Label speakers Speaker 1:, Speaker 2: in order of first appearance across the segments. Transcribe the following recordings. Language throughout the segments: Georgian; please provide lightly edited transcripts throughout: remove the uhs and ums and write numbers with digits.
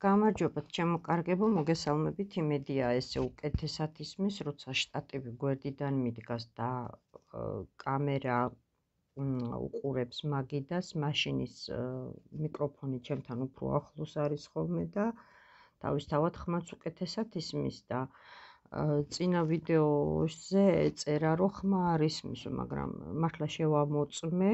Speaker 1: გამარჯობა ჩემო კარგებო, მოგესალმებით. იმედია ესე უკეთესად ისმის, როცა შტატივი გვერდიდან მიდგას და კამერა უყურებს მაგიდას, მაშინის მიკროფონი ჩემთან უფრო ახლოს არის ხოლმე და თავისთავად ხმაც უკეთესად ისმის და წინა ვიდეოზე წერა რომ ხმა არ ისმის, მაგრამ მართლა შევამოწმე.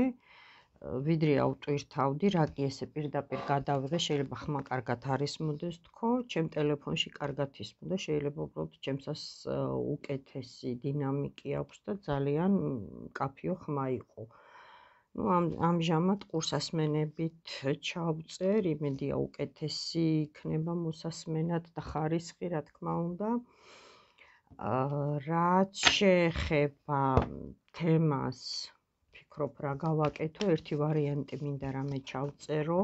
Speaker 1: ვიდრე ავტვირთავდი, რა კი ესე პირდაპირ გადავიღე, შეიძლება ხმა კარგად არ ისმოდეს თქო, ჩემ ტელეფონში კარგად ისმოდა, შეიძლება უბრალოდ ჩემსას უკეთესი დინამიკი აქვს და ძალიან მკაფიო ხმა იყო. ამჟამად ყურსასმენებით ჩავწერ, იმედია უკეთესი იქნება მოსასმენად და ხარისხი, რა თქმა უნდა. რაც შეეხება თემას ვფიქრობ რა გავაკეთო, ერთი ვარიანტი მინდა რამე ჩავწერო,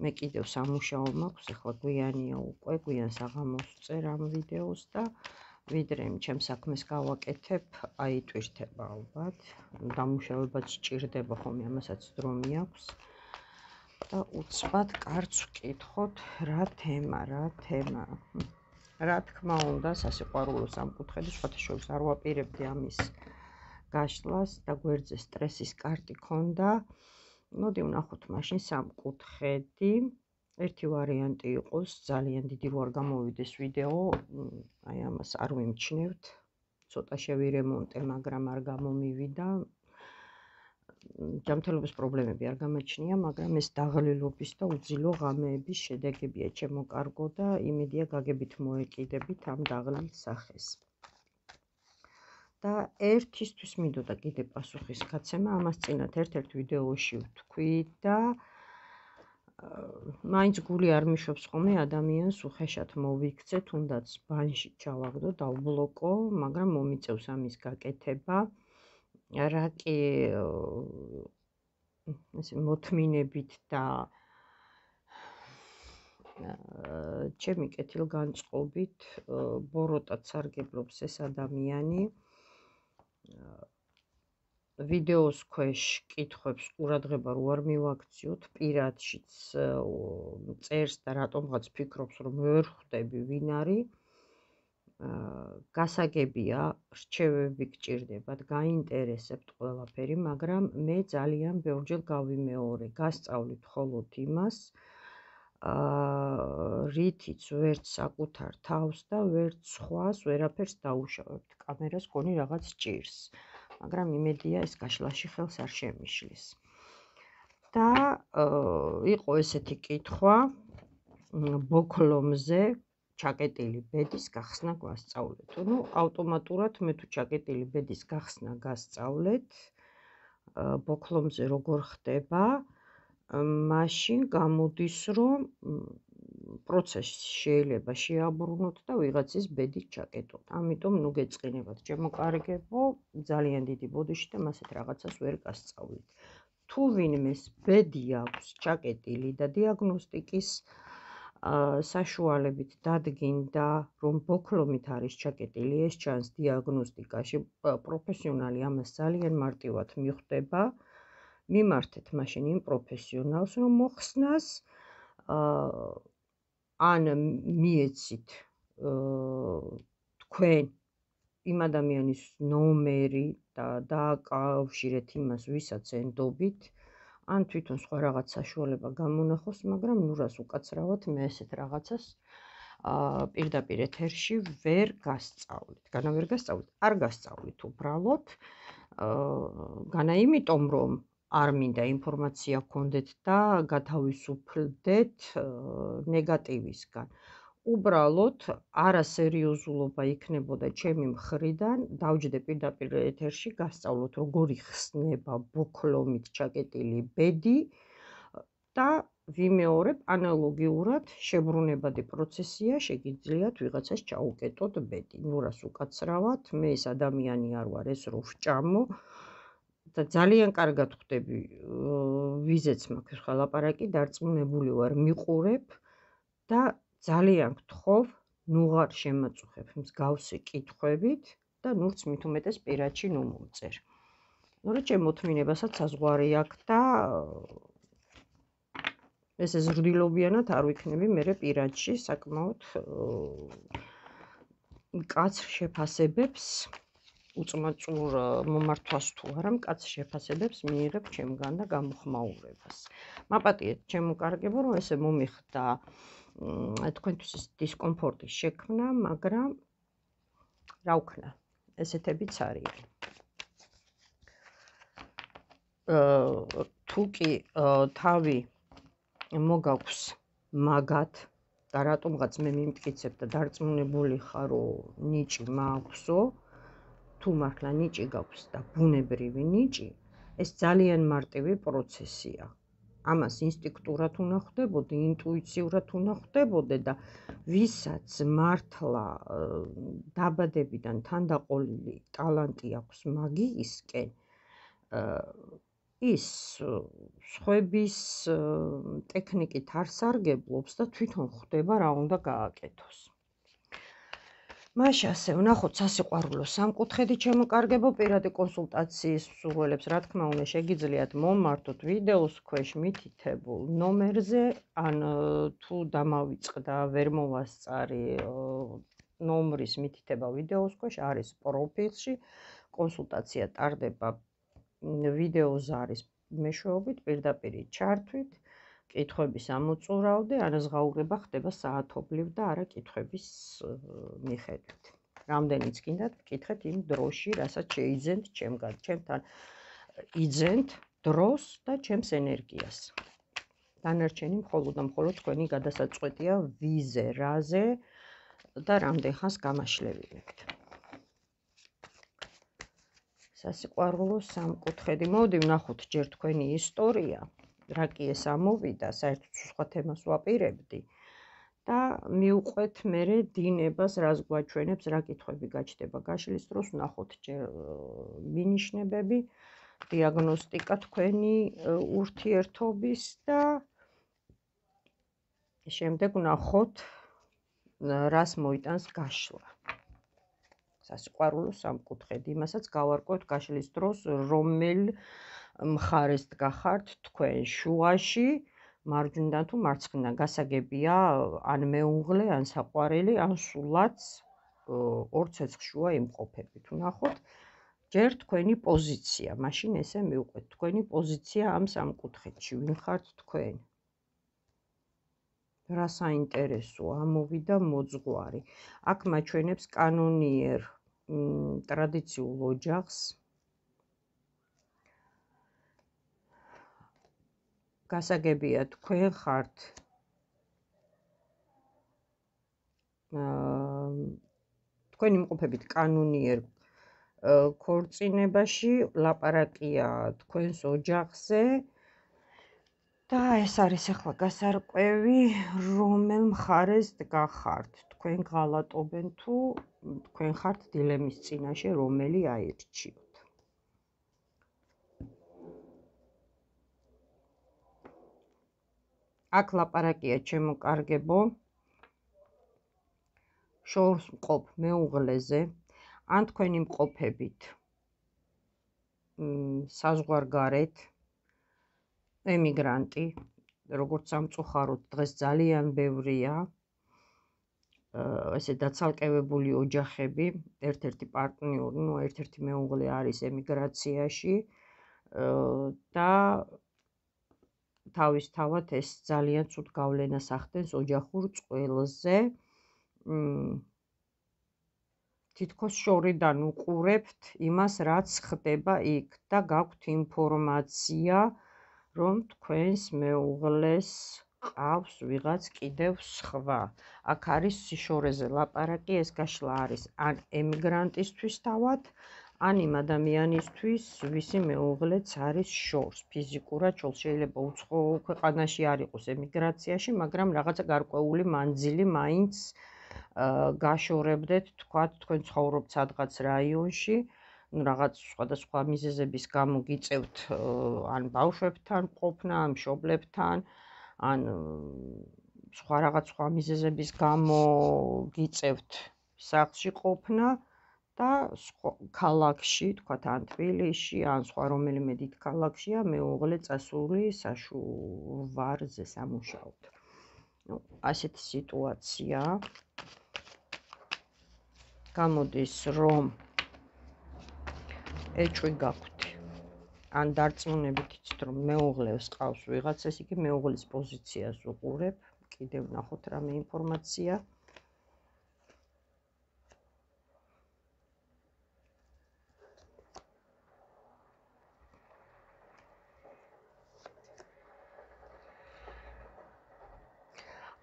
Speaker 1: მე კიდევ სამუშაო მაქვს, ახლა გვიანია უკვე, გვიან საღამოს წერ ამ ვიდეოს და ვიდრე ჩემ საქმეს გავაკეთებ, აიტვირთება ალბათ, დამუშავებაც სჭირდება ხოლმე, ამასაც დრო მიაქვს და უცბად კარგს ვკითხოთ რა თემა. რა თქმა უნდა, სასიყვარულო სამკუთხედი, სხვათა შორის არ ვაპირებდი ამის გაშლას და გვერდზე სტრესის კარტი ქონდა. მოდი ვნახოთ მაშინ სამკუთხედი. ერთი ვარიანტი იყოს, ძალიან დიდი რო არ გამოვიდეს ვიდეო, აი ამას არ ვიმჩნევთ. ცოტა შევირემონტე, მაგრამ არ გამომივიდა. ჯანმრთელობის პრობლემები არ გამაჩნია, მაგრამ ეს დაღლილობის და უძილო ღამეების შედეგებია ჩემო კარგო და იმედია გაგებით მოეკიდებით ამ დაღლილ სახეს. და ერთისთვის მინდოდა კიდე პასუხის გაცემა, ამას წინათ ერთ-ერთ ვიდეოში ვთქვი და მაინც გული არ მიშვებს ხოლმე ადამიანს უხეშად მოვიქცე, თუნდაც ბანში ჩავაგდო, დავბლოკო, მაგრამ მომიწევს ამის გაკეთება. რა კი ესე მოთმინებით და ჩემი კეთილგანწყობით ბოროტად სარგებლობს ეს ადამიანი. ვიდეოს ქვეშ კითხვებს ყურადღება რო არ მივაქციოთ, პირადშიც წერს და რატომღაც ფიქრობს, რომ ვერ ხვდები ვინ არის. გასაგებია, რჩევები გჭირდებათ, გაინტერესებთ ყველაფერი, მაგრამ მე ძალიან ბევრჯერ გავიმეორე, გასწავლით მხოლოდ იმას, რითიც ვერც საკუთარ თავს და ვერც სხვას ვერაფერს დაუშავებთ. კამერას გონი რაღაც ჭირს, მაგრამ იმედია ეს გაშლაში ხელს არ შემიშლის. და იყო ესეთი კითხვა ბოქლომზე ჩაკეტილი ბედის გახსნა გვასწავლეთ. ნუ ავტომატურად მე თუ ჩაკეტილი ბედის გახსნა გასწავლეთ, ბოქლომზე როგორ ხდება, მაშინ გამოდის, რომ პროცესში შეიძლება შეაბრუნოთ და ვიღაცის ბედი ჩაკეტოთ. ამიტომ ნუ გეწყინებათ, ჩემო კარგებო, ძალიან დიდი ბოდიში და მასეთ რაღაცას ვერ გასწავლით. თუ ვინმეს ბედი აქვს ჩაკეტილი და დიაგნოსტიკის საშუალებით დადგინდა, რომ ბოქლომით არის ჩაკეტილი, ეს ჩანს დიაგნოსტიკაში, პროფესიონალი ამას ძალიან მარტივად მიხვდება. მიმართეთ მაშინ იმ პროფესიონალს, რომ მოხსნას, ან მიეცით თქვენ იმ ადამიანის ნომერი და დააკავშირეთ იმას, ვისაც ენდობით, ან თვითონ სხვა რაღაც საშუალება გამონახოს, მაგრამ ნუ რას უკაცრავად მე ესეთ რაღაცას პირდაპირ ეთერში ვერ გასწავლით. განა ვერ გასწავლით? არ გასწავლით უბრალოდ. განა იმიტომ, რომ არ მინდა ინფორმაცია გქონდეთ და გათავისუფლდეთ ნეგატივისგან. უბრალოდ არასერიოზულობა იქნებოდა ჩემი მხრიდან, დავჯდე პირდაპირ ეთერში გასწავლოთ, როგორ იხსნება ბოქლომით ჩაკეტილი ბედი და ვიმეორებ ანალოგიურად შებრუნებადი პროცესია, შეგიძლიათ ვიღაცას ჩაუკეტოთ ბედი. ნუ რას უკაცრავად, მე ეს ადამიანი არ ვარ, ეს რო ვჭამო და ძალიან კარგად ხვდები, ვიზეც მაქვს ხელაპარაკი, დარწმუნებული ვარ, მიყურებ და ძალიან გთხოვ, ნუღარ შემაწუხებ მსგავსი კითხვებით და ნურც მით უმეტეს პირადში ნუ მომწერ. ნუ რა ჩემ მოთმინებასაც საზღვარი აქვს და ესე ზრდილობიანად არ ვიქნები მერე პირადში საკმაოდ მკაცრ შეფასებებს უწმაწურ მომართვას თუ არა მკაცრ შეფასებებს მიიღებ ჩემგან და გამოხმაურებას. მაპატიეთ ჩემო კარგებო, რომ ესე მომიხდა თქვენთვის დისკომფორტის შექმნა, მაგრამ რა ვქნა, ესეთებიც არიან. თუ კი თავი მოგაქვს მაგათ და რატომღაც მე მიმტკიცებ და დარწმუნებული ხარ, რომ ნიჭი მაქვსო, თუ მართლა ნიჭი გაქვს და ბუნებრივი ნიჭი, ეს ძალიან მარტივი პროცესია. ამას ინსტინქტურად უნდა ხვდებოდე, ინტუიციურად უნდა ხვდებოდე და ვისაც მართლა დაბადებიდან თანდაყოლილი ტალანტი აქვს მაგიისკენ, ის სხვების ტექნიკით არ სარგებლობს და თვითონ ხვდება რა უნდა გააკეთოს. მაშინ ასე ვნახოთ სასიყვარულო სამკუთხედი ჩემო კარგებო, პირადი კონსულტაციის მსურველებს რა თქმა უნდა შეგიძლიათ მომმართოთ ვიდეოს ქვეშ მითითებულ ნომერზე, ან თუ დამავიწყდა ვერ მოვასწარი ნომრის მითითება ვიდეოს ქვეშ არის პროფილში, კონსულტაცია ტარდება ვიდეო ზარის მეშვეობით, პირდაპირ ჩართვით, კითხვების ამოწურავდე, ანაზღაურება ხდება საათობლივ და არა კითხვების მიხედვით. რამდენიც გინდათ ვკითხეთ იმ დროში, რასაც შეიძენთ ჩემგან, ჩემთან იძენთ დროს და ჩემს ენერგიას. დანარჩენი მხოლოდ და მხოლოდ თქვენი გადასაწყვეტია ვიზე, რაზე და რამდენ ხანს გამაშლევილებთ. სასიყვარულო სამკუთხედი. მოვდი ვნახოთ ჯერ თქვენი ისტორია, რა კი ეს ამოვიდა, საერთოდ სხვა თემას ვაპირებდი და მივყვეთ მერე დინებას, რას გვაჩვენებს, რა კითხვები გაჩნდება გაშლის დროს, ვნახოთ ჯერ მინიშნებები, დიაგნოსტიკა თქვენი ურთიერთობის და შემდეგ ვნახოთ რას მოიტანს გაშლა. სასიყვარულო სამკუთხედი, იმასაც გავარკვევთ გაშლის დროს, რომელ მხარეს დგახართ თქვენ, შუაში, მარჯვნიდან თუ მარცხნიდან, გასაგებია ან მეუღლე, ან საყვარელი, ან სულაც ორ ცეცხლშუა იმყოფებით. ვნახოთ ჯერ თქვენი პოზიცია, მაშინ ესე მივყვეთ თქვენი პოზიცია ამ სამკუთხედში, ვინ ხართ თქვენ? რა საინტერესო ამოვიდა მოძღვარი. აქ მაჩვენებს კანონიერ ტრადიციულ ოჯახს. გასაგებია თქვენ ხართ თქვენ იმყოფებით კანონიერ ქორწინებაში, ლაპარაკია თქვენს ოჯახზე და ეს არის ახლა გასარკვევი, რომელ მხარეს დგახართ. თქვენ ღალატობენ თუ თქვენ ხართ დილემის წინაშე, რომელი აირჩიოთ. აქ ლაპარაკია ჩემო კარგებო, შორს მყოფ მეუღლეზე, ან თქვენ იმყოფებით საზღვარგარეთ, ემიგრანტი, როგორც სამწუხაროდ დღეს ძალიან ბევრია, ესე დაცალკევებული ოჯახები, ერთ-ერთი პარტნიორი, ერთ-ერთი მეუღლე არის ემიგრაციაში და თავისთავად ეს ძალიან ცუდ გავლენას ახდენს ოჯახურ წყვილზე. თითქოს შორიდან უყურებთ იმას, რაც ხდება იქ და გაქვთ ინფორმაცია, რომ თქვენს მეუღლეს ყავს ვიღაც კიდევ სხვა. აქ არის სიშორეზე ლაპარაკი, ეს გაშლა არის ან ემიგრანტისთვის თავად, ან იმ ადამიანისთვის, ვისი მეუღლეც არის შორს, ფიზიკურად შეიძლება უცხო ქვეყანაში არ იყოს ემიგრაციაში, მაგრამ რაღაცა გარკვეული მანძილი მაინც გაშორებდეთ, თქვათ, თქვენ ცხოვრობთ სადღაც რაიონში, რაღაც სხვადასხვა მიზეზების გამო გიწევთ ან ბავშვებთან ყოფნა, ან მშობლებთან, ან სხვა მიზეზების გამო გიწევთ სახლში ყოფნა და ქალაქში, თქვათ ან თბილისში, ან სხვა რომელიმე დიდ ქალაქშია მეუღლე წასული საშუვარზე სამუშაოდ. ნუ ასეთი სიტუაცია. გამოდის რომ ეჭვი გაქვთ. ან დარწმუნებით იცით რომ მეუღლეს ყავს ვიღაც, ეს იგი მეუღლის პოზიციას უყურებ. კიდევ ვნახოთ რამე ინფორმაცია.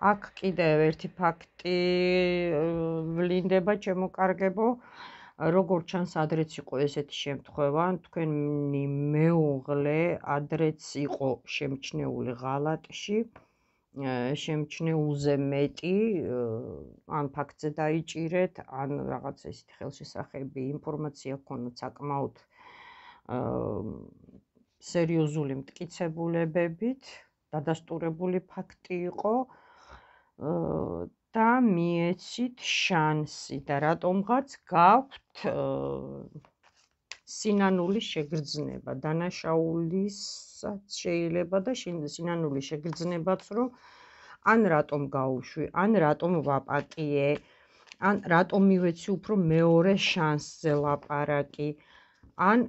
Speaker 1: აქ კიდევ ერთი ფაქტი ვლინდება ჩემო-კარგებო, როგორც ჩანს ადრეც იყო ესეთი შემთხვევა, თქვენი მეუღლე ადრეც იყო შემჩნეული ღალატში, შემჩნეულზე მეტი, ან ფაქტზე დაიჭირეთ, ან რაღაც ესეთი ხელშესახები ინფორმაცია ჰქონდათ საკმაოდ სერიოზული მტკიცებულებებით, დადასტურებული ფაქტი იყო. და მიეცით შანსი და რატომღაც გაქვთ სინანულის შეგრძნება, დანაშაულისაც შეიძლება და სინანულის შეგრძნებაც, რომ ან რატომ გაუშვი, ან რატომ ვაპატიე, ან რატომ მივეცი უფრო მეორე შანსზე ლაპარაკი, ან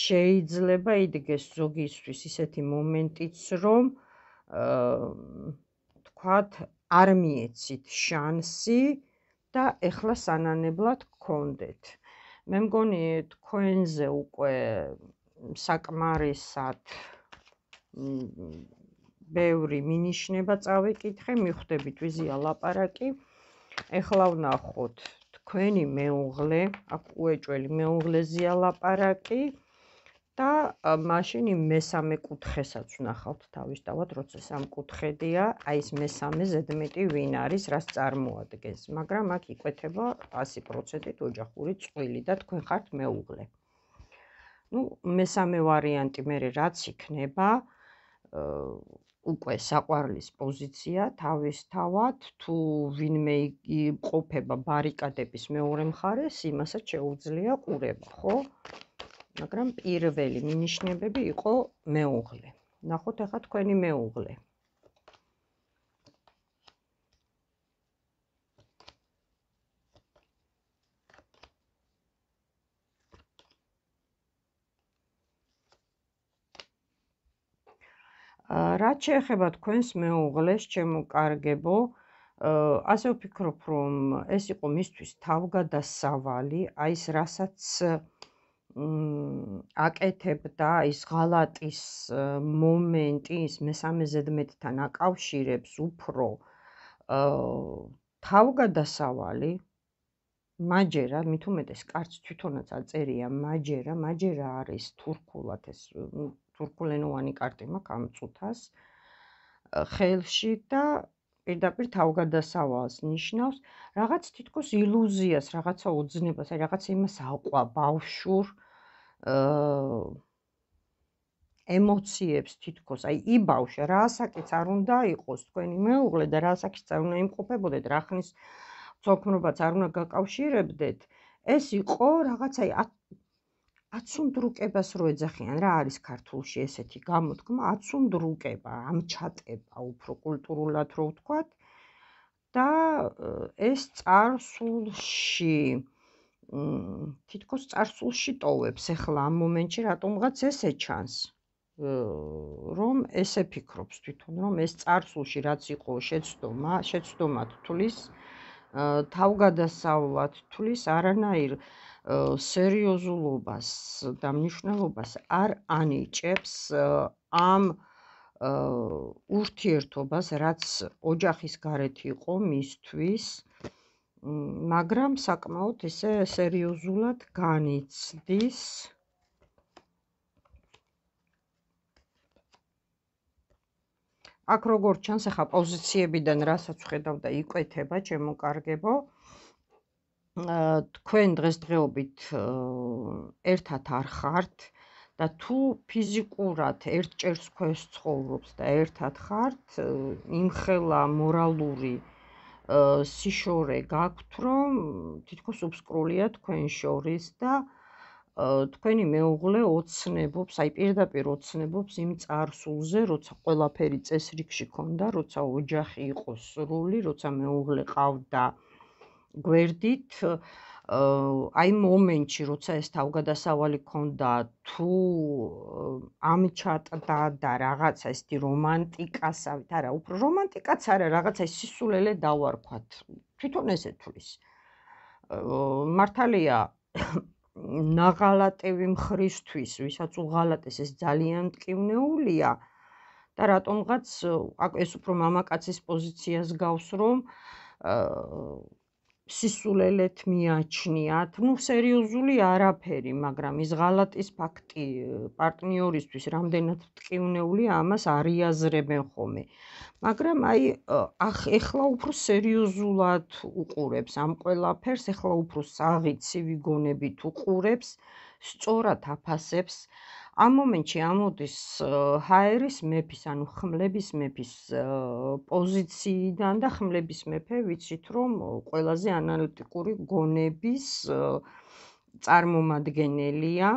Speaker 1: შეიძლება იდგეს ზოგისთვის ისეთი მომენტიც, რომ თქვათ არ მიეცით შანსი და ეხლა სანანებლად გქონდეთ. მე მგონი თქვენზე უკვე საკმარისად ბევრი მინიშნება წავიკითხე, მიხვდებით ვიზია ლაპარაკი. ეხლა ვნახოთ თქვენი მეუღლე, აქ უეჭველი მეუღლეზეა ლაპარაკი და მაშინ იმ მესამე კუთხესაც ვნახავთ თავისთავად, როცა სამკუთხედია, აი ეს მესამე ზედმეტი ვინ არის, რას წარმოადგენს, მაგრამ აქ იკვეთება 100%-ით ოჯახური წყვილი და თქვენ ხართ მეუღლე. ნუ მესამე ვარიანტი მერე რაც იქნება, უკვე საყვარლის პოზიცია თავისთავად, თუ ვინმე ყოფება ბარიკადების მეორე მხარეს, იმასაც შეუძლია ყურება, ხო? მაგრამ პირველი მინიშნებები იყო მეუღლე. ნახოთ ახლა თქვენი მეუღლე. რაც შეეხება თქვენს მეუღლეს, ჩემო-კარგებო, ასე ვფიქრობ, რომ ეს იყო მისთვის თავგადასავალი, აი ეს რასაც აკეთებდა, ის ღალატის მომენტი, ის მესამე ზედმეტთან აკავშირებს უფრო თავგადასავალი, მაჯერა, მით უმეტეს კარც თვითონაც აწერია მაჯერა არის თურქულად, ეს თურქულენოვანი კარტი მაქვს ამ წუთას ხელში და პირდაპირ თავგადასავალს ნიშნავს, რაღაც თითქოს ილუზიას, რაღაცა ოძნებას, აი რაღაცა იმას აყვა ბავშვურ ემოციებს თითქოს, აი იბავშა, რა ასაკიც არ უნდა იყოს თქვენი მეუღლე და რა ასაკიც არ უნდა იმყოფებოდეთ, რა ხნის ცოლქმრობაც არ უნდა გაკავშირებდეთ, ეს იყო რაღაცა აცუნდრუკებას რო ეძახიან, რა არის ქართულში ესეთი გამოთქმა, აცუნდრუკება, ამჩატება, უფრო კულტურულად რო ვთქვათ და ეს წარსულში თითქოს წარსულში ტოვებს ახლა ამ მომენტში რატომღაც ესე ჩანს, რომ ესე ფიქრობს თვითონ, რომ ეს წარსულში რაც იყო შეცდომად თulis, თავგადასავლად თulis, არანაირ სერიოზულობას და მნიშვნელობას არ ანიჭებს ამ ურთიერთობას, რაც ოჯახის გარეთ იყო მისთვის, მაგრამ საკმაოდ ესე სერიოზულად განიცდის. აქ როგორც ჩანს, ახლა პოზიციებიდან რასაც ვხედავ და იკვეთება, ჩემო-კარგებო, თქვენ დღესდღეობით ერთად არ ხართ და თუ ფიზიკურად ერთ ჭერს ქვეშ ცხოვრობთ და ერთად ხართ, იმხელა მორალური სიშორე გაქვთ, რომ თითქოს უბსკრულია თქვენ შორის და თქვენი მეუღლე ოცნებობს, აი პირდაპირ ოცნებობს იმ წარსულზე, როცა ყველაფერი წესრიგში ქონდა, როცა ოჯახი იყო სრული, როცა მეუღლე ყავდა გვერდით, აი მომენტში, როცა ეს თავგადასავალი ქონდა, თუ ამჩატდა და რაღაცა ესეთი რომანტიკასავით, არა, უფრო რომანტიკაც არა, რაღაცა სისულელე დავარქვათ, თვითონ ესე თulis. მართალია ნაღალატევი მხრისთვის, ვისაც უღალატეს, ეს ძალიან მტკივნეულია და რატომღაც ეს უფრო მამაკაცის პოზიციას გავს, რომ სისულელეთ მიაჩნიათ, სერიოზული არაფერი, მაგრამ ის ღალატის ფაქტი პარტნიორისთვის რამდენად მტკივნეულია, ამას არიაზრებენ ხოლმე. მაგრამ აი ეხლა უფრო სერიოზულად უყურებს ამ ყველაფერს, ეხლა უფრო საღი-ცივი გონებით უყურებს, სწორად აფასებს. ამ მომენტში ამოდის ჰაერის მეფის, ანუ ხმლების მეფის პოზიციიდან და ხმლების მეფე ვიცით, რომ ყველაზე ანალიტიკური გონების წარმომადგენელია.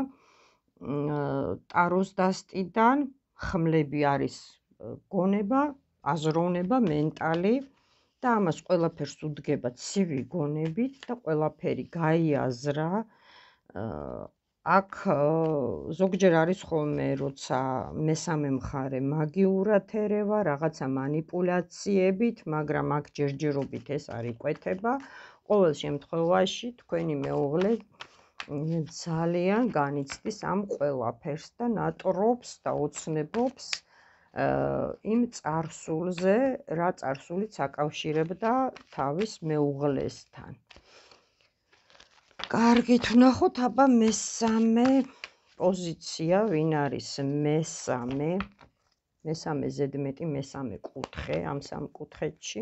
Speaker 1: ტაროს დასტიდან ხმლები არის გონება, აზროვნება, მენტალი და ამას ყველაფერს უდგება ცივი გონებით და ყველაფერი გაიაზრა. აქ ზოგჯერ არის ხოლმე, როცა მესამე მხარე მაგიურად ერევა, რაღაცა მანიპულაციებით, მაგრამ აქ ჯერჯერობით ეს არ იკვეთება. ყოველ შემთხვევაში თქვენი მეუღლე ძალიან განიცდის ამ ყველაფერს და ნატრობს და ოცნებობს იმ წარსულზე, რა წარსულიც აკავშირებდა თავის მეუღლესთან. კარგით, ვნახოთ აბა მესამე პოზიცია, ვინ არის მესამე ზედმეტი მესამე კუთხე ამ სამ კუთხეთში.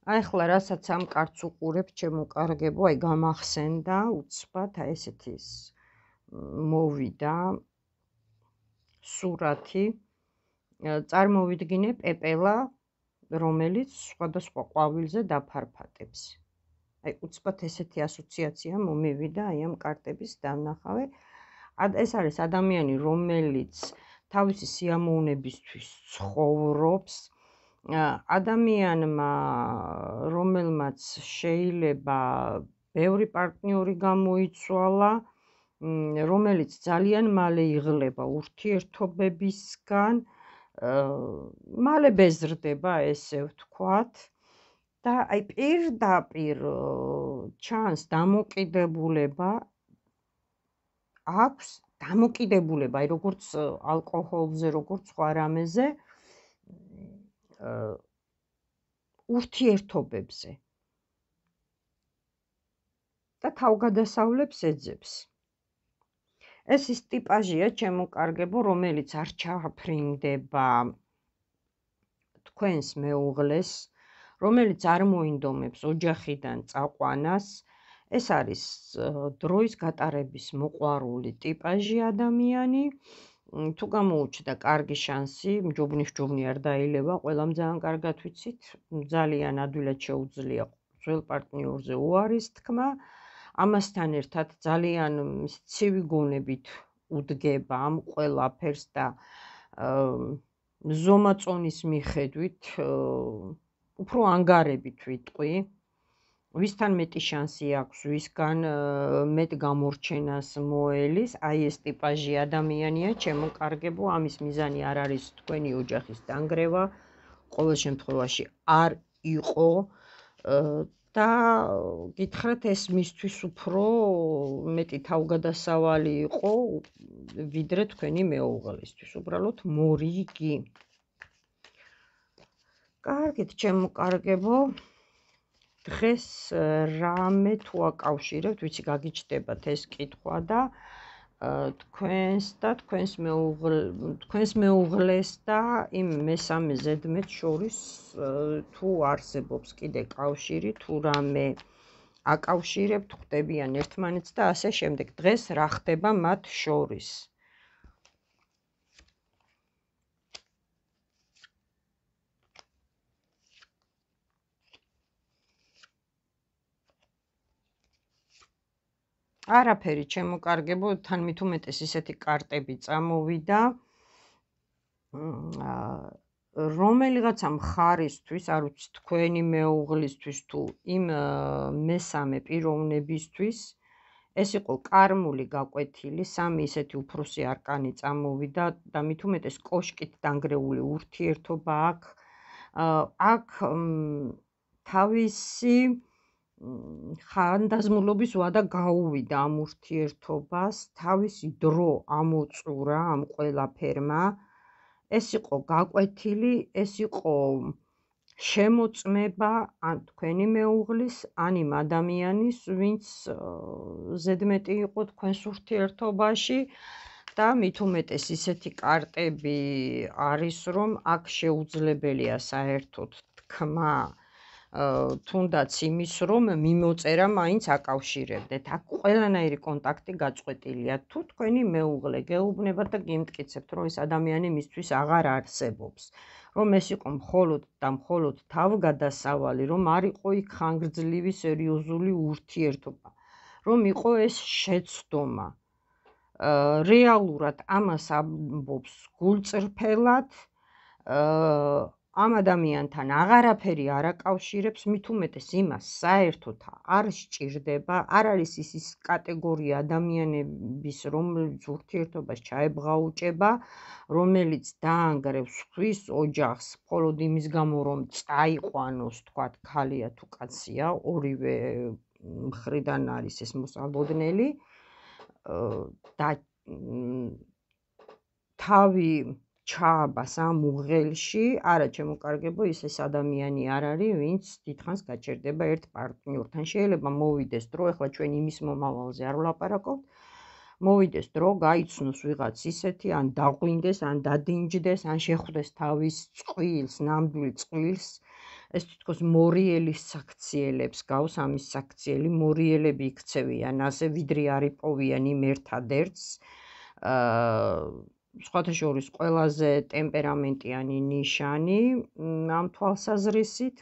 Speaker 1: აი ახლა რასაც ამ კარტს უყურებ, ჩემო კარგებო, აი გამახსენდა უცბად, აი ესეთი მოვიდა სურათი. წარმოვიდგინე პეპელა, რომელიც სხვადასხვა ყვავილზე დაფარფატებს. აი უცბად ესეთი ასოციაცია მომივიდა აი ამ კარტების დანახავე. ეს არის ადამიანი, რომელიც თავისი სიამოვნებისთვის ცხოვრობს. ადამიანმა, რომელმაც შეიძლება ბევრი პარტნიორი გამოიცვალა, რომელიც ძალიან მალე იღლება ურთიერთობებისგან, მალე ბეზრდება, ესე ვთქვათ, და აი პირდაპირ ჩანს დამოკიდებულება აქვს, დამოკიდებულება, აი როგორც ალკოჰოლზე, როგორც სხვა რამეზე, ურთიერთობებზე და თავგადასავლებს ეძებს. ეს ის ტიპაჟია, ჩემო კარგებო, რომელიც არ ჩაფრინდება თქვენს მეუღლეს, რომელიც არ მოინდომებს ოჯახიდან წაყვანას. ეს არის დროის გატარების მოყვარული ტიპაჟი ადამიანი. თუ გამოუჩნდა კარგი შანსი, მჯობნი არ დაილევა, ყველამ ძალიან კარგად ვიცით, ძალიან ადვილად შეუძლია ძველ პარტნიორზე უარის თქმა. ამასთან ერთად ძალიან ცივი გონებით უდგება ამ ყველაფერს და ზომაწონის მიხედვით უფრო ანგარებით ვიტყვი. ვისთან მეტი შანსი აქვს, ვისგან მეტ გამორჩენას მოელის, აი ეს ტიპაჟი ადამიანია, ჩემო კარგებო, ამის მიზანი არ არის თქვენი ოჯახის დანგრევა, ყოველ შემთხვევაში არ იყო და გითხრათ, ეს მისთვის უფრო მეტი თავგადასავალი იყო, ვიდრე თქვენი მეუღლისთვის, უბრალოდ მორიგი. კარგით, ჩემო კარგებო, დღეს რამე თუ აკავშირებთ, ვიცი გაგიჩნდებათ ეს კითხვა და თქვენს მეუღლეს და იმ მესამე ზედმეტს შორის თუ არსებობს კიდე კავშირი, თუ რამე აკავშირებთ, ხვდებიან ერთმანეთს და ასე შემდეგ. დღეს რა ხდება მათ შორის? არაფერი, ჩემო კარგებო, თან მით უმეტეს ისეთი კარტები წამოვიდა, რომელიღაცა მხარისთვის, არ ვიცი, თქვენი მეუღლისთვის თუ იმ მესამე პიროვნებისთვის, ეს იყო კარმული გაკვეთილი, სამი ისეთი უფროსი არკანი წამოვიდა და მით უმეტეს კოშკით დანგრეული ურთიერთობა აქ თავისი ხანდაზმულობის ვადა გაუვიდა ამ ურთიერთობას, თავისი დრო ამოწურა ამ ყველაფერმა. ეს იყო გაკვეთილი, ეს იყო შემოწმება ან თქვენი მეუღლის, ან იმ ადამიანის, ვინც ზედმეტი იყო თქვენს ურთიერთობაში და მით უმეტეს ისეთი კარტები არის, რომ აქ შეუძლებელია საერთოდ თქმა თუნდაც იმის, რომ მიმოწერა მაინც აკავშირებდეთ. აქ ყველანაირი კონტაქტი გაწყვეტილია. თუ თქვენი მეუღლე გეუბნებათ და გიმტკიცებთ, რომ ეს ადამიანი მისთვის აღარ არსებობს, რომ ეს იყო მხოლოდ და მხოლოდ თავგადასავალი, რომ არ იყო იქ ხანგრძლივი სერიოზული ურთიერთობა, რომ იყო ეს შეცდომა. რეალურად ამას ამბობს გულწრფელად, ამ ადამიანთან აღარაფერი არ აკავშირებს, მით უმეტეს იმას საერთოდ არ სჭირდება, არ არის ის კატეგორია ადამიანების, რომელიც ურთიერთობას ჩაებღაუჭება, რომელიც დაანგრევს ხვის ოჯახს მხოლოდ იმის გამო, რომ წაიყვანოს, თქვათ, ქალია თუ კაცია, ორივე მხრიდან არის ეს მოსალოდნელი და თავი ჩააბას ამ უღელში, არა ჩემო კარგებო, ეს ადამიანი არ არის, ვინც დიდხანს გაჩერდება ერთ პარტნიორთან. შეიძლება მოვიდეს დრო, ეხლა ჩვენ იმის მომავალზე არ ვლაპარაკობთ, მოვიდეს დრო, გაიცნოს ვიღაც ისეთი, ან დაღვინდეს, ან დადინჯდეს, ან შეხვდეს თავის წყვილს, ნამდვილ წყვილს, ეს თითქოს მორიელის საქციელებს გავს, ამის საქციელი, მორიელები იქცევიან ასე, ვიდრე არ იპოვიან იმ ერთადერთს, სხვათა შორის ყველაზე ტემპერამენტიანი ნიშანი ამ თვალსაზრისით,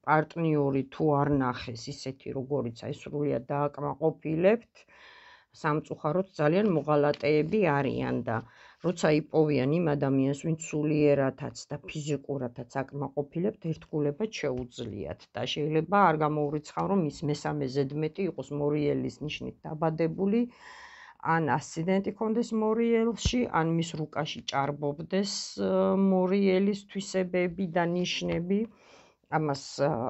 Speaker 1: პარტნიორი თუ არ ნახეს ისეთი, როგორიც აი სრულიად დააკმაყოფილებთ, სამწუხაროდ ძალიან მოღალატეები არიან და როცა იპოვიან იმ ადამიანს, ვინც სულიერათაც და ფიზიკურათაც აკმაყოფილებთ, ერთგულებად შეუძლიათ და შეიძლება არ გამოურიცხავ, რომ ის მესამე ზედმეტი იყოს მორიელის ნიშნით დაბადებული, ან ასციდენტი ქონდეს მორიელში, ან მის რუკაში ჭარბობდეს მორიელის თვისებები და ნიშნები, ამას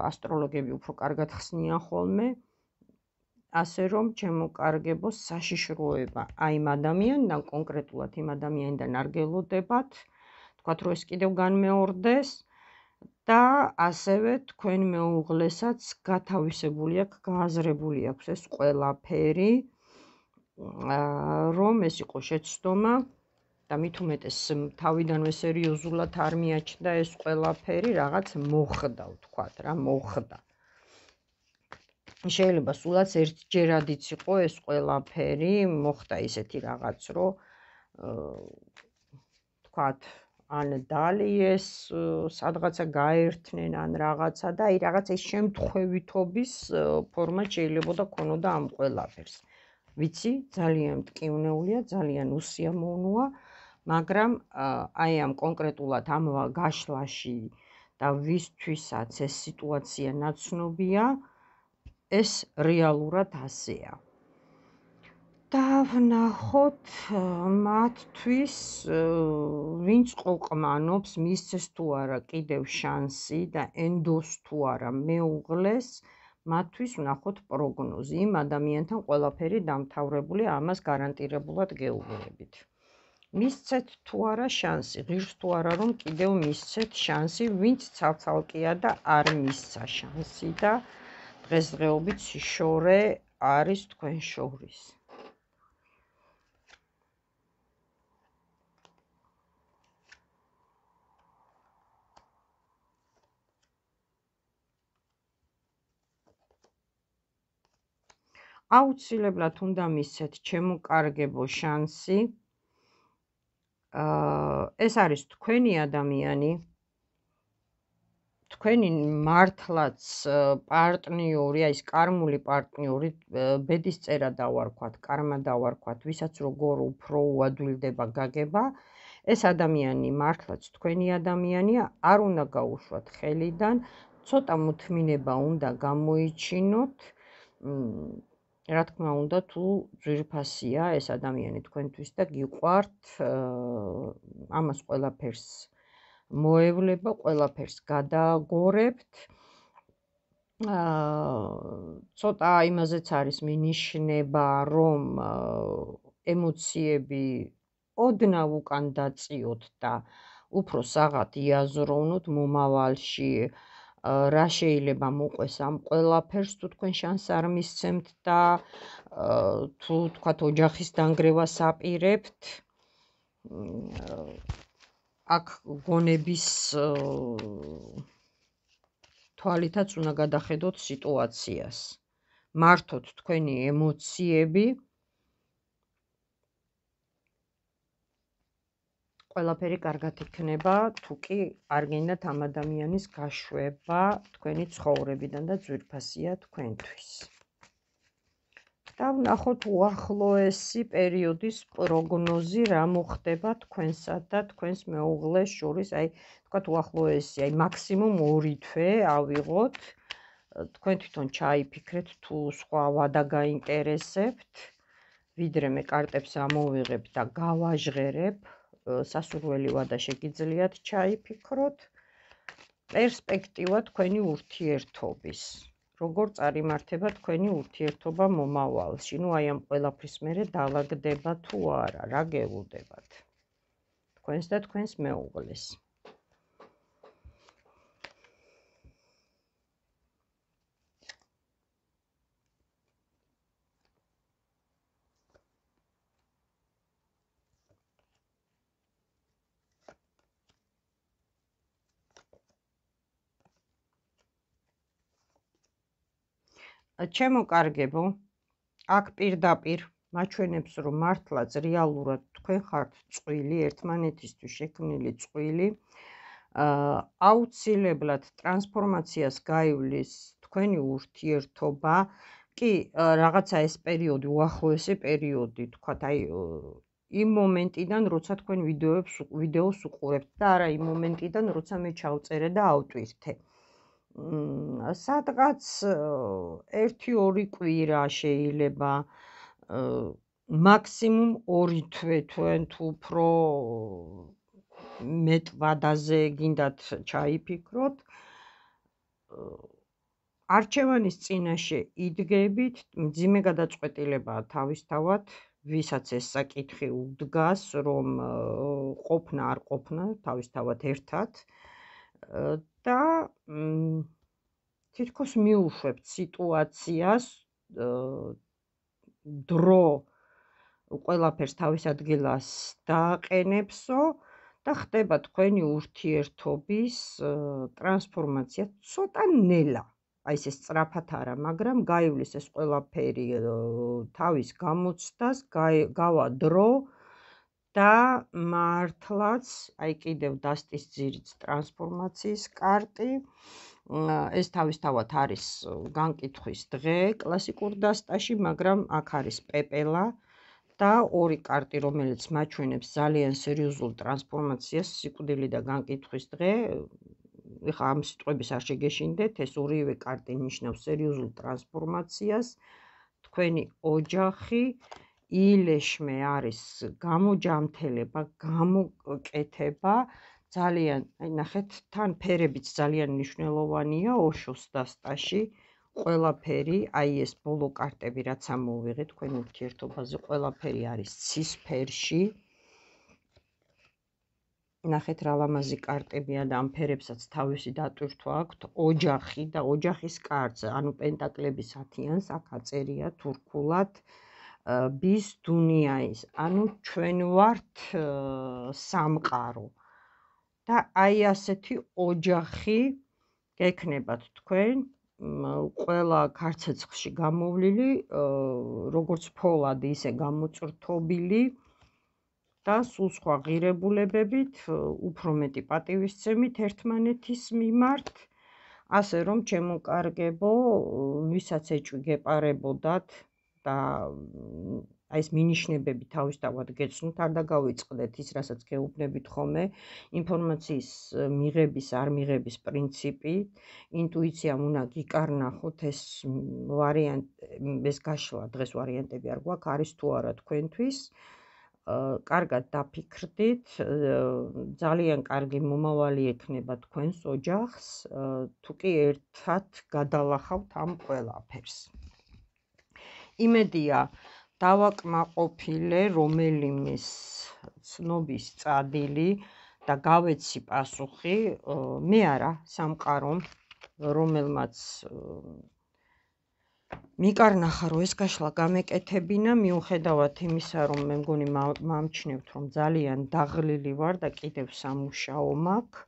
Speaker 1: ასტროლოგები უფრო კარგად ხსნიან ხოლმე, ასე რომ ჩემო კარგებო, საშიშროება აი იმ ადამიანიდან, კონკრეტულად იმ ადამიანიდან არ გელოდებათ, თქვათ, რომ ეს კიდევ განმეორდეს და ასევე თქვენ მეუღლესაც გათავისებული აქვს, გააზრებული აქვს ეს ყველაფერი, რომ ეს იყო შეცდომა და მით უმეტეს თავიდანვე სერიოზულად არ მიაჩნდა ეს ყველაფერი, რაღაც მოხდა, ვთქვათ რა, მოხდა. შეიძლება სულაც ერთჯერადიც იყო ეს ყველაფერი, მოხდა ისეთი რაღაც, რომ ვთქვათ, ან დალიეს, სადღაცა გაერთნენ, ან რაღაცა და აი რაღაც ეს შემთხვევითობის ფორმა შეიძლებოდა ქონოდა ამ ყველაფერს. ვიცი, ძალიან მტკივნეულია, ძალიან უსიამოვნოა, მაგრამ აი ამ კონკრეტულად ამ გაშლაში და ვისთვისაც ეს სიტუაცია ნაცნობია, ეს რეალურად ასეა. დავნახოთ მათთვის, ვინც ყოყმანობს, მისცეს თუ არა კიდევ შანსი და ენდოს თუ არა მეუღლეს, მათთვის ვნახოთ პროგნოზი. იმ ადამიანთან ყველაფერი დამთავრებული, ამას გარანტირებულად გეუბნებით. მისცეთ თუ არა შანსი, ღირს თუ არა რომ კიდევ მისცეთ შანსი, ვინც ცალ-ცალკეა და არ მისცა შანსი და დღესდღეობით სიშორე არის თქვენ შორის. აუცილებლად უნდა მისცეთ ჩემოკარგებო შანსი. ეს არის თქვენი ადამიანი, თქვენი მართლაც პარტნიორი, აი ეს კარმული პარტნიორი, ბედისწერა დავარქვათ, კარმა დავარქვათ, ვისაც როგორ უფრო უადვილდება გაგება, ეს ადამიანი მართლაც თქვენი ადამიანია, არ უნდა გაუშვათ ხელიდან, ცოტა მოთმინება უნდა გამოიჩინოთ, რა თქმა უნდა, თუ ძვირფასია ეს ადამიანი თქვენთვის და გიყვართ, ამას ყველაფერს მოევლება, ყველაფერს გადააგორებთ. ცოტა იმაზეც არის მინიშნება, რომ ემოციები ოდნავ უკან დაწიოთ და უფრო საღად იაზროვნოთ მომავალში, რა შეიძლება მოყვეს ამ ყველაფერს, თუ თქვენ შანსს არ მისცემთ და თუ თქვათ ოჯახის დანგრევას აპირებთ, აქ გონების თვალითაც უნდა გადახედოთ სიტუაციას. მართოთ თქვენი ემოციები, ყველაფერი კარგად იქნება, თუ კი არ გინდათ ამ ადამიანის გაშვება თქვენი ცხოვრებიდან და ძვირფასია თქვენთვის. და ვნახოთ უახლოესი პერიოდის პროგნოზი, რა მოხდება თქვენსა და თქვენს მეუღლეს შორის, აი თქვათ უახლოესი, აი მაქსიმუმ 2 თვე ავიღოთ, თქვენ თვითონ ჩაიფიქრეთ, თუ სხვა ვადა გაინტერესებთ, ვიდრე მე კარტებს ამოვიღებ და გავაჟღერებ, სასურველი ვადა შეგიძლიათ ჩაიფიქროთ, პერსპექტივა თქვენი ურთიერთობის. როგორ წარიმართება თქვენი ურთიერთობა მომავალში. ნუ აი ამ ყველაფრის მერე დავაგდება თუ არა, რა გეულდებათ თქვენს და თქვენს მეუღლეს. ჩემოკარგებო, აქ პირდაპირ მაჩვენებს, რომ მართლაც რეალურად თქვენ ხართ წყვილი, ერთმანეთისთვის შექმნილი წყვილი, აუცილებლად ტრანსფორმაციას გაივლის თქვენი ურთიერთობა, კი რაღაცა ეს პერიოდი, უახლოესი პერიოდი, თქვათ, აი იმ მომენტიდან, როცა თქვენ ვიდეოს უყურებთ და არა იმ მომენტიდან, როცა მე ჩავწერე და ავტვირთე. სადღაც 1-2 კვირა შეიძლება, მაქსიმუმ 2 თვე, თქვენ თუ უფრო მეტ ვადაზე გინდათ ჩაიფიქროთ, არჩევანის წინაშე იდგებით, მძიმე გადაწყვეტილებაა თავისთავად, ვისაც ეს საკითხი უდგას, რომ ყოფნა არ ყოფნა, თავისთავად ერთად და თითქოს მიუშვებთ სიტუაციას, დრო ყველაფერს თავის ადგილას დააყენებსო და ხდება თქვენი ურთიერთობის ტრანსფორმაცია ცოტა ნელა. აი ეს სწრაფად არა, მაგრამ გაივლის ეს ყველაფერი თავის გამოცდას, გავა დრო და მართლაც, აი კიდევ დასტის ძირიც ტრანსფორმაციის კარტი, ეს თავისთავად არის განკითხვის დღე კლასიკურ დასტაში, მაგრამ აქ არის პეპელა და 2 კარტი, რომელიც მაჩვენებს ძალიან სერიოზულ ტრანსფორმაციას, სიკვდილი და განკითხვის დღე. ეხლა ამ სიტყვების არ შეგეშინდეთ, ეს ორივე კარტი ნიშნავს სერიოზულ ტრანსფორმაციას. თქვენი ოჯახი ილეშმე არის გამოჯამთელება, გამოკეთება, ძალიან, აი ნახეთ, თან ფერებიც ძალიან მნიშვნელოვანია ოშოს დასტაში. ყველაფერი, აი ეს ბოლო კარტები, რაც ამოვიღეთ თქვენ ურთიერთობაზე, ყველაფერი არის ცის ფერში. ნახეთ რა ლამაზი კარტებია და ამ ფერებსაც თავისი დატვირთვა აქვთ, ოჯახი და ოჯახის კარტზე, ანუ პენტაკლების 10-იანს აქ აწერია თურქულად, ბის დუნიაის, ანუ ჩვენ ვართ სამყარო. და აი ასეთი ოჯახი გექნებათ თქვენ, ყველა ქარცეცხლში გამოვლილი, როგორც ფოლადი, ისე გამოწვრთობილი და სულ სხვა ღირებულებებით, უფრო მეტი პატივისცემით ერთმანეთის მიმართ, ასე რომ ჩემოკარგებო, ვისაც ეჭვი გეპარებოდათ და აი ეს მინიშნებები თავისთავად გეცნოთ, არ დაგავიწყდეთ ის, რასაც გეუბნებით ხოლმე, ინფორმაციის მიღების, არ მიღების პრინციპი, ინტუიციამ უნდა გიკარნახოთ ეს გაშლა, დღეს ვარიანტები არ გვაქვს, არის თუ არა თქვენთვის, კარგად დაფიქრდით, ძალიან კარგი მომავალი ექნება თქვენს ოჯახს, თუ კი ერთად გადალახავთ ამ ყველაფერს. იმედია, დავაკმაყოფილე რომელიმეს ცნობის წადილი და გავეცი პასუხი, მე არა, სამყარომ, რომელმაც მიკარნახა, რომ ეს გაშლა გამეკეთებინა, მიუხედავად იმისა, რომ მე მგონი მამჩნევთ, რომ ძალიან დაღლილი ვარ და კიდევ სამუშაო მაქვს,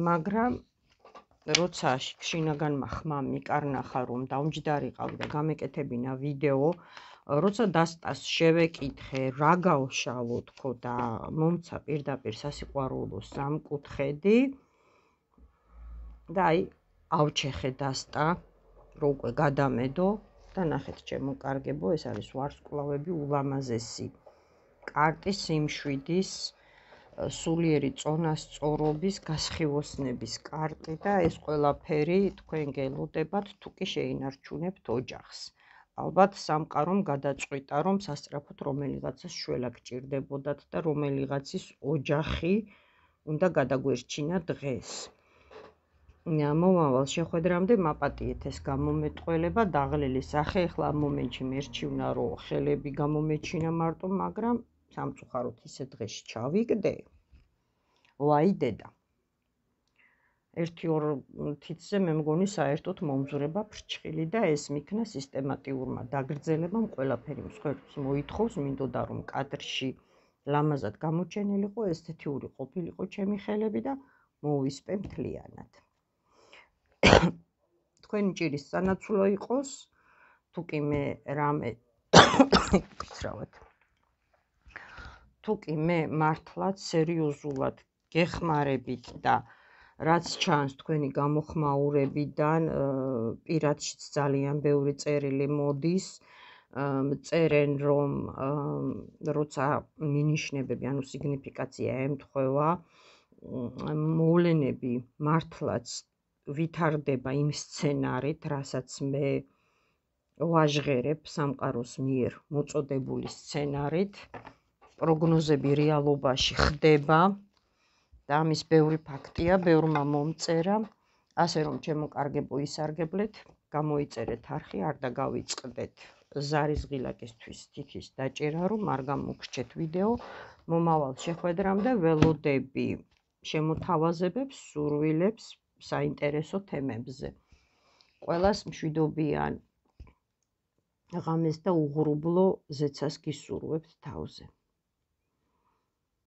Speaker 1: მაგრამ როცა შინაგანმა ხმამ მიკარნახა, რომ დამჯდარიყავი და გამეკეთებინა ვიდეო, როცა დასტას შევეკითხე, რა გავშალო თქო და მომცა პირდაპირ სასიყვარულო სამკუთხედი და აი ავჩეხე დასტა, რომ უკვე გადამედო და ნახეთ ჩემოკარგებო, ეს არის ვარსკვლავები ულამაზესი კარტი სიმშვიდის, სულიერი წონასწორობის, გასხივოსნების კარტი და ეს ყველაფერი თქვენ გელოდებათ, თუ კი შეინარჩუნებთ ოჯახს. ალბათ სამყარომ გადაწყვიტა, რომ სასწრაფოდ რომელიღაცას შველა გჭირდებოდათ და რომელიღაცის ოჯახი უნდა გადაგვერჩინა დღეს. მომავალ შეხვედრამდე მაპატიეთ ეს გამომეტყველება, დაღლილი სახე, ეხლა ამ მომენტში მერჩივნა, რომ ხელები გამომეჩინა მარტო, მაგრამ სამწუხაროდ ისე დღეში ჩავიგდე, ვაი დედა. 1-2 თითზე მე მგონი საერთოდ მომძვრება ფრჩხილი და ეს მიქნა სისტემატიურმა დაგრძელებამ ყველაფერი მსხვერპლს მოითხოვს, მინდოდა რომ კადრში ლამაზად გამოჩენილიყო, ესთეთიური ყოფილიყო ჩემი ხელები და მოვისპე მთლიანად. თქვენი ჭირის სანაცვლო იყოს, თუ კი მე რამე თუ კი მე მართლაც სერიოზულად გეხმარებით და რაც ჩანს თქვენი გამოხმაურებიდან, პირადშიც ძალიან ბევრი წერილი მოდის, წერენ რომ როცა მინიშნებები, ანუ სიგნიფიკაცია ემთხვევა, მოვლენები მართლაც ვითარდება იმ სცენარით, რასაც მე ვაჟღერებ სამყაროს მიერ მოწოდებული სცენარით, პროგნოზები რეალობაში ხდება და ამის ბევრი ფაქტია, ბევრმა მომწერა, ასე რომ ჩემოკარგებო ისარგებლეთ, გამოიწერეთ არხი, არ დაგავიწყდეთ ზარის ღილაკისთვის თითის დაჭერა, რომ არ გამოგრჩეთ ვიდეო, მომავალ შეხვედრამდე ველოდები შემოთავაზებებს, სურვილებს საინტერესო თემებზე. ყველას მშვიდობიან ღამეს და უღრუბლო ზეცას გისურვებთ თავზე.